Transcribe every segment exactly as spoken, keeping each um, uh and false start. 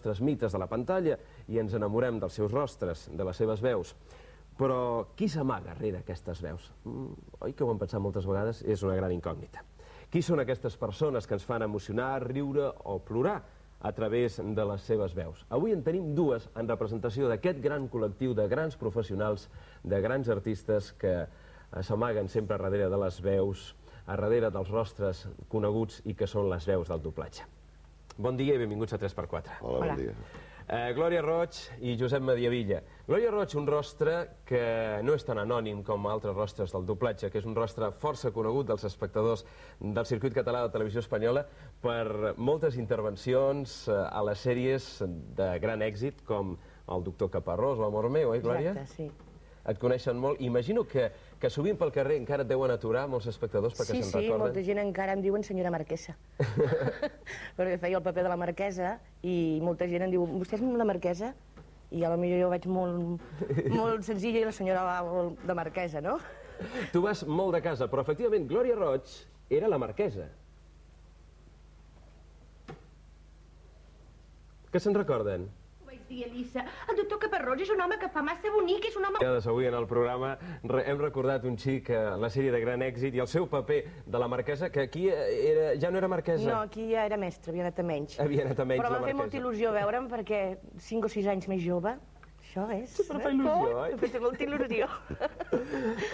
nostres mites de la pantalla i ens enamorem dels seus rostres, de les seves veus. Però qui s'amaga darrere aquestes veus? Oi que ho hem pensat moltes vegades? És una gran incògnita. Qui són aquestes persones que ens fan emocionar, riure o plorar a través de les seves veus? Avui en tenim dues en representació d'aquest gran col·lectiu de grans professionals, de grans artistes que s'amaguen sempre darrere de les veus, a darrere dels rostres coneguts i que són les veus del doblatge. Bon dia i benvinguts a tres per quatre. Hola, bon dia. Eh, Glòria Roig i Josep Mediavilla. Glòria Roig, un rostre que no és tan anònim com altres rostres del doblatge, que és un rostre força conegut dels espectadors del circuit català de televisió espanyola per moltes intervencions eh, a les sèries de gran èxit, com El doctor Caparrós o Amor meu, oi, Glòria? Exacte, sí. Et coneixen molt. Imagino que, que sovint pel carrer encara et deuen aturar molts espectadors perquè sí, se'n sí, recorden. molta gent encara em diuen senyora marquesa. Perquè feia el paper de la marquesa i molta gent em diu, vostè és la marquesa? I potser jo vaig molt, molt senzilla i la senyora va de marquesa, no? Tu vas molt de casa, però efectivament Glòria Roig era la marquesa. Què se'n recorden? Dir, Elisa, el doctor Caparrós és un home que fa massa bonic, és un home... Avui en el programa hem recordat un xic a la sèrie de gran èxit i el seu paper de la marquesa, que aquí era, ja no era marquesa. No, aquí ja era mestre, havia anat a menys. Havia anat a menys Però la va fer marquesa. molta il·lusió veure'm perquè cinc o sis anys més jove, això és... Sí, però fa il·lusió, oi? M'ha fet molta il·lusió.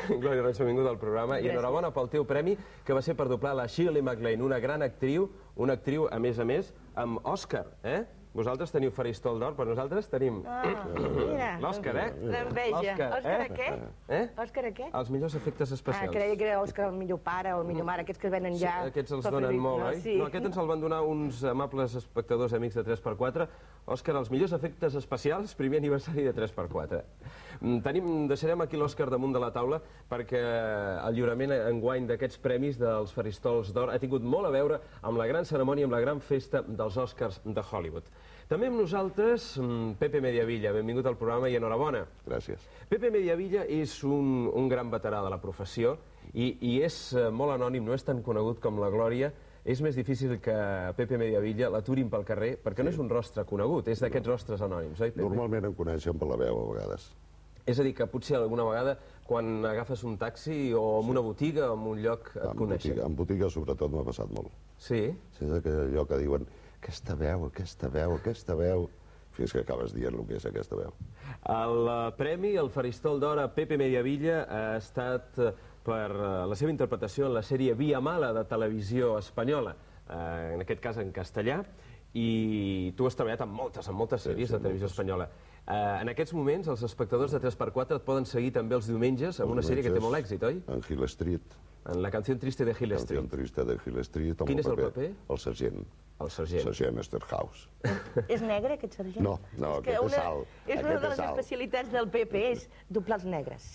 Glòria Roig, benvinguda al programa i enhorabona pel teu premi, que va ser per doblar la Shirley MacLaine, una gran actriu, una actriu, a més a més, amb Òscar, eh? Vosaltres teniu Faristol d'Or, però nosaltres tenim l'Òscar, eh? L'enveja. Òscar a què? Eh? Òscar a què? Els millors efectes especials. Ah, creia que era Òscar el millor pare o el millor mare, aquests que venen ja... Sí, aquests els donen molt, oi? No, aquest ens el van donar uns amables espectadors amics de tres per quatre. Òscar, els millors efectes especials, primer aniversari de tres per quatre. Tenim, deixarem aquí l'Òscar damunt de la taula perquè el lliurament enguany d'aquests premis dels Faristols d'Or ha tingut molt a veure amb la gran cerimònia, amb la gran festa dels Òscars de Hollywood. També amb nosaltres, Pepe Mediavilla, benvingut al programa i enhorabona. Gràcies. Pepe Mediavilla és un, un gran veterà de la professió i, i és molt anònim, no és tan conegut com la Glòria. És més difícil que Pepe Mediavilla l'aturin pel carrer perquè no és un rostre conegut, és d'aquests rostres anònims, oi, Pepe? Normalment em coneixen per la veu, a vegades. És a dir, que potser alguna vegada quan agafes un taxi o en una botiga o en un lloc et coneixen. En botiga sobretot m'ha passat molt. Sí? Sí, és allò que diuen aquesta veu, aquesta veu, aquesta veu, fins que acabes dient el que és aquesta veu. El premi, el Faristol d'Or a Pepe Mediavilla ha estat per la seva interpretació en la sèrie Via Mala de televisió espanyola, en aquest cas en castellà, i tu has treballat en moltes, en moltes sèries de televisió espanyola. En aquests moments, els espectadors de tres per quatre et poden seguir també els diumenges amb una sèrie que té molt èxit, oi? En Hill Street. En la canció triste de Hill Street. La canció triste de Hill Street. Quin és el paper? El sergent. El sergent. Sergent Esterhaus. És negre, aquest sergent? No, no, aquest és alt. És una de les especialitats del Pepe, és doblar els negres.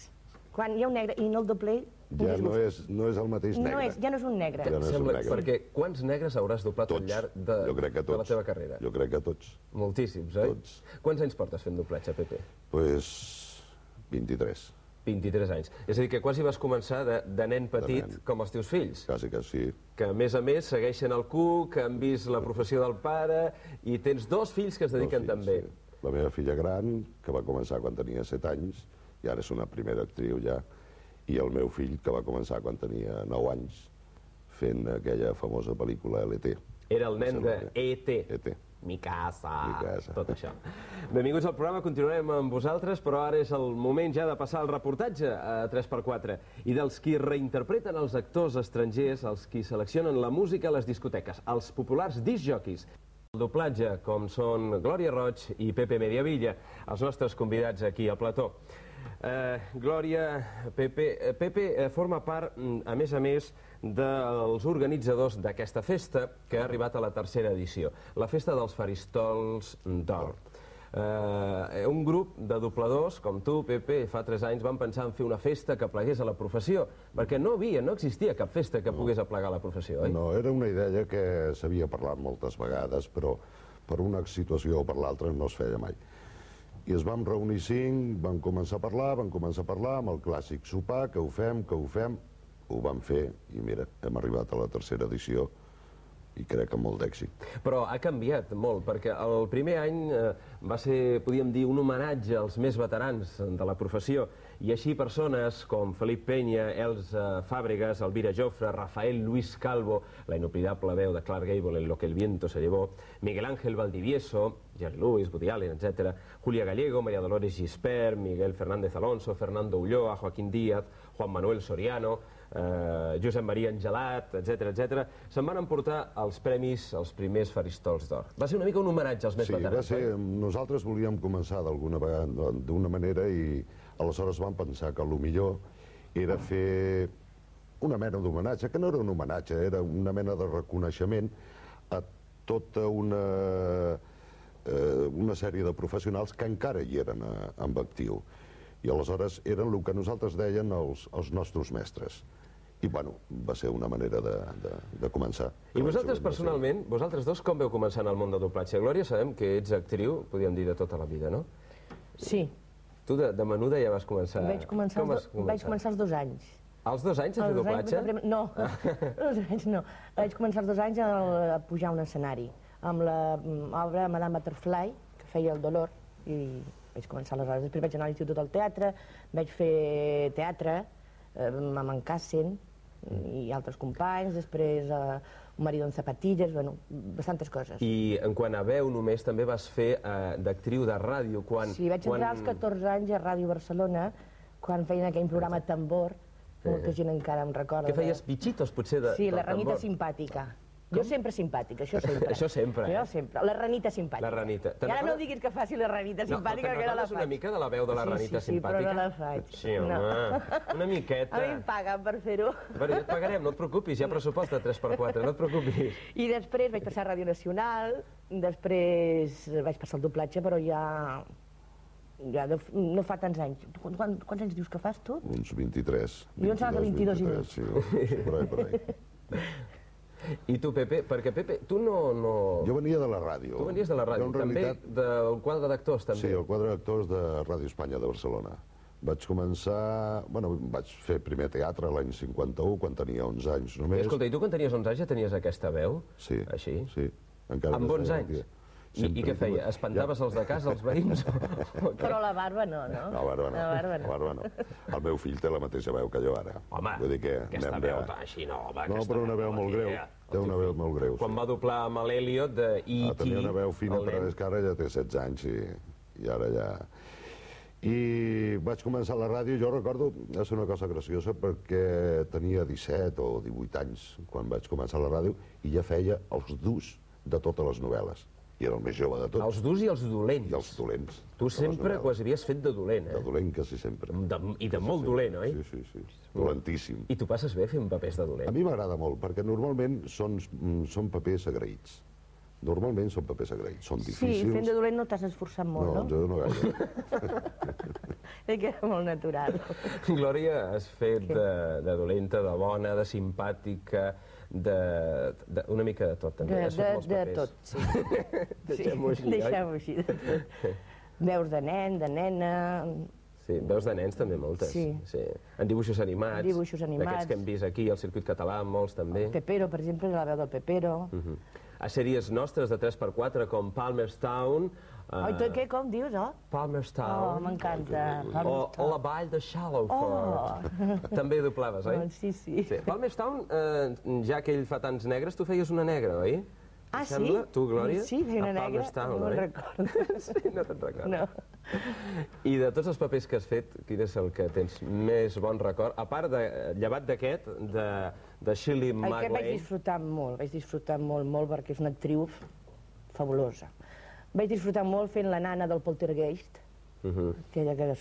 Quan hi ha un negre i no el doblé... Ja no és el mateix negre. Ja no és un negre. Perquè quants negres hauràs doblat al llarg de la teva carrera? Jo crec que tots. Moltíssims, oi? Tots. Quants anys portes fent doblatge, Pepe? Doncs vint-i-tres. vint-i-tres anys. És a dir, que quasi vas començar de nen petit com els teus fills. Quasi que sí. Que a més a més segueixen el cu, que han vist la professió del pare, i tens dos fills que es dediquen també. La meva filla gran, que va començar quan tenia set anys, i ara és una primera actriu ja, i el meu fill, que va començar quan tenia nou anys, fent aquella famosa pel·lícula L T. Era el nen de E T E T Mi casa, Mi casa. Tot això. Benvinguts al programa, continuarem amb vosaltres, però ara és el moment ja de passar el reportatge a tres per quatre i dels qui reinterpreten els actors estrangers, els qui seleccionen la música a les discoteques, els populars discjockeys. El doblatge, com són Glòria Roig i Pepe Mediavilla, els nostres convidats aquí al plató. Eh, Glòria, Pepe, Pepe eh, forma part, a més a més, dels organitzadors d'aquesta festa que ha arribat a la tercera edició, la Festa dels Faristols d'Or. Eh, un grup de dobladors, com tu, Pepe, fa tres anys van pensar en fer una festa que plegués a la professió, perquè no havia, no existia cap festa que pogués aplegar la professió, oi? No, era una idea que s'havia parlat moltes vegades, però per una situació o per l'altra no es feia mai. I es vam reunir cinc, vam començar a parlar, vam començar a parlar amb el clàssic sopar, que ho fem, que ho fem, ho vam fer, i mira, hem arribat a la tercera edició, i crec que amb molt d'èxit. Però ha canviat molt, perquè el primer any eh, va ser, podríem dir, un homenatge als més veterans de la professió, i així persones com Felip Peña, Elsa Fàbregas, Elvira Jofre, Rafael Luis Calvo, la inoblidable veu de Clark Gable en Lo que el viento se llevó, Miguel Ángel Valdivieso, Jerry Lewis, Woody Allen, etcètera, Julia Gallego, María Dolores Gispert, Miguel Fernández Alonso, Fernando Ulloa, Joaquín Díaz, Juan Manuel Soriano, eh, Josep Maria Angelat, etcètera, etcètera, se'n van emportar els premis, els primers faristols d'or. Va ser una mica un homenatge als més veterans. Sí, va ser... Nosaltres volíem començar d'alguna vegada, d'una manera, i aleshores vam pensar que el millor era fer una mena d'homenatge, que no era un homenatge, era una mena de reconeixement a tota una, eh, una sèrie de professionals que encara hi eren a, en actiu. I aleshores eren el que nosaltres deien els, els nostres mestres. I, bueno, va ser una manera de, de, de començar. I vosaltres, personalment, vosaltres dos, com veu començar en el món del doblatge? Glòria, sabem que ets actriu, podríem dir, de tota la vida, no? Sí. Tu de, de menuda ja vas començar... Vaig començar, com els, do... vaig començar als dos anys. Als dos anys a fer doblatge? Anys, no, als dos anys no. Vaig començar als dos anys a, a pujar a un escenari, amb l'obra Madame Butterfly, que feia el Dolor, i vaig començar aleshores. Després vaig anar a l'Institut del Teatre, vaig fer teatre, eh, amb en Cassen i altres companys, després eh, un marido en zapatilles, bueno, bastantes coses. I en quant a veu només també vas fer eh, d'actriu de ràdio, quan... Sí, vaig entrar als catorze anys a Ràdio Barcelona, quan feien aquell programa Tambor, molta gent encara em recorda. Que feies bitxitos, potser, de Sí, la ranita simpàtica. Jo sempre simpàtica, això sempre. Això sempre, eh? Jo sempre. La ranita simpàtica. La ranita. I ara no diguis que faci la ranita simpàtica, que no la faig. una mica de la veu de la ranita simpàtica? Sí, sí, però no la faig. Sí, home, una miqueta. A mi em paguen per fer-ho. Bueno, ja et pagarem, no et preocupis, hi ha pressupost de tres per quatre, no et preocupis. I després vaig passar a Ràdio Nacional, després vaig passar al doblatge, però ja... ja no fa tants anys. Quants, quants anys dius que fas, tu? Uns vint-i-tres. Jo em sembla que vint-i-dos i mig. Sí, per ahí, per ahí. I tu, Pepe, perquè Pepe, tu no... no... Jo venia de la ràdio. Tu venies de la ràdio, també del quadre d'actors, també. Sí, el quadre d'actors de Ràdio Espanya de Barcelona. Vaig començar... Bueno, vaig fer primer teatre l'any cinquanta-u, quan tenia onze anys només. Escolta, i tu quan tenies onze anys ja tenies aquesta veu? Sí. Així? Sí. Amb bons anys? I, I què feia? Espantaves els de casa, els veïns? Però la barba no, no? La barba no, la barba no. La barba no. El meu fill té la mateixa veu que jo ara. Home, Vull dir que aquesta veu tan així, no, home, no, però una veu molt greu. Té una veu molt greu. Quan va doblar amb l'Eliot de E T... Ah, tenia una veu fina, però és que ara ja té setze anys i, i ara ja... I vaig començar a la ràdio, jo recordo, és una cosa graciosa, perquè tenia disset o divuit anys quan vaig començar a la ràdio i ja feia els durs de totes les novel·les. I era el més jove de tots. Els durs i els dolents. I els dolents. Tu sempre quasi havies fet de dolent, eh? De dolent quasi sempre. De, I de molt dolent, oi? Sí, sí, sí. Dolentíssim. I tu passes bé fent papers de dolent? A mi m'agrada molt, perquè normalment són, són papers agraïts. Normalment són papers agraïts, són difícils. Sí, fent de dolent no t'has esforçat molt, no? No, jo no gaire. És que era molt natural. Glòria, has fet de, de dolenta, de bona, de simpàtica, de, de, una mica de tot, també. De, Has fet molts de papers. tot, sí. Deixem-ho així, oi? Deixem-ho així, de tot. Veus de nen, de nena... Sí, veus de nens també moltes. Sí. Sí. En dibuixos animats. Dibuixos animats. D'aquests que hem vist aquí, al circuit català, molts també. Pepero, per exemple, la veu del Pepero. Uh -huh. A sèries nostres de tres per quatre, com Palmerstown... Oi, tu què, com dius, oh? Palmerstown. Oh, m'encanta. O La Vall de Shallowford. Oh. També doblaves, oi? Oh, sí, sí. Sí. Palmerstown, eh, ja que ell fa tants negres, tu feies una negra, oi? Ah, sí? Sembla? Tu, Glòria? Sí, feia una a negra, Palmerstown, no me'n oi? recordo. Sí, no te'n recordes. No. I de tots els papers que has fet, quin és el que tens més bon record? A part, de, llevat d'aquest, de, de Shirley MacLaine... Aquest vaig disfrutar molt, vaig disfrutar molt, molt, perquè és una actriu fabulosa. Vaig disfrutar molt fent la nana del Poltergeist, uh -huh. aquella que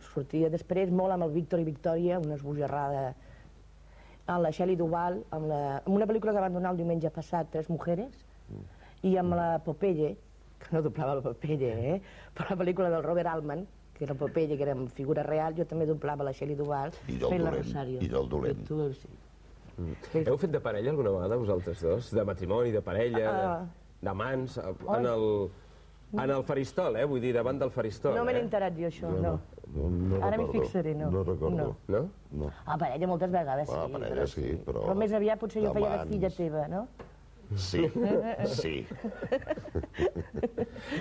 sortia després, molt amb el Víctor i Victòria, una esbojarrada, amb la Shelley Duvall, amb, la, amb una pel·lícula que van donar el diumenge passat, Tres Mujeres, uh. i amb la Popeye, que no doblava la Popeye, eh? però la pel·lícula del Robert Altman, que era Popeye, que era en figura real, jo també doblava la Shelley Duvall, fent la Rosario. I del dolent. Tu, sí. Mm. Heu fet de parella alguna vegada, vosaltres dos? De matrimoni, de parella, uh. d'amants, en el... En el faristol, eh? Vull dir, davant del faristol, No me n'he eh? enterat jo, això, no. No, no Ara m'hi recordo. fixaré, no. No recordo. No. No? No. A parella moltes vegades, sí. A parella sí, però... Però més aviat potser jo feia de d'amants. filla teva, no? Sí, sí.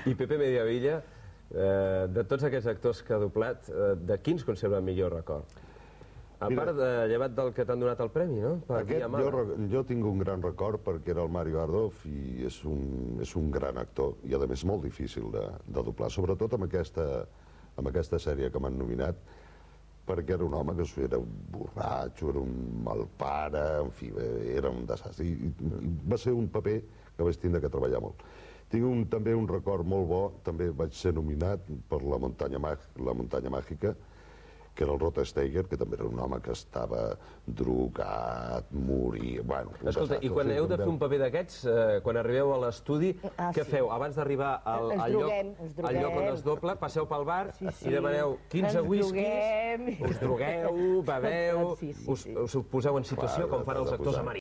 I Pepe Mediavilla, eh, de tots aquests actors que ha doblat, eh, de quins conserva el millor record? A Mira, part, de, llevat del que t'han donat el premi, no? Per Aquest, Via Mala. jo, jo tinc un gran record perquè era el Mario Ardov i és un, és un gran actor i, a més, molt difícil de, de doblar, sobretot amb aquesta, amb aquesta sèrie que m'han nominat, perquè era un home que era un borratxo, era un mal pare, en fi, era un desastre. I, i va ser un paper que vaig tindre que treballar molt. Tinc un, també un record molt bo, també vaig ser nominat per La muntanya, la muntanya màgica, que era el Rota Steiger, que també era un home que estava drogat, morir... Bueno, Escolta, i quan heu de fer un paper d'aquests, eh, quan arribeu a l'estudi, ah, què sí. feu? Abans d'arribar al, al, lloc, al lloc on es dobla, passeu pel bar sí, sí. i demaneu quinze Ens whiskies, droguem. us drogueu, beveu, Sí, sí, us, sí. us poseu en situació Clar, com fan els t'has de actors posar. americans.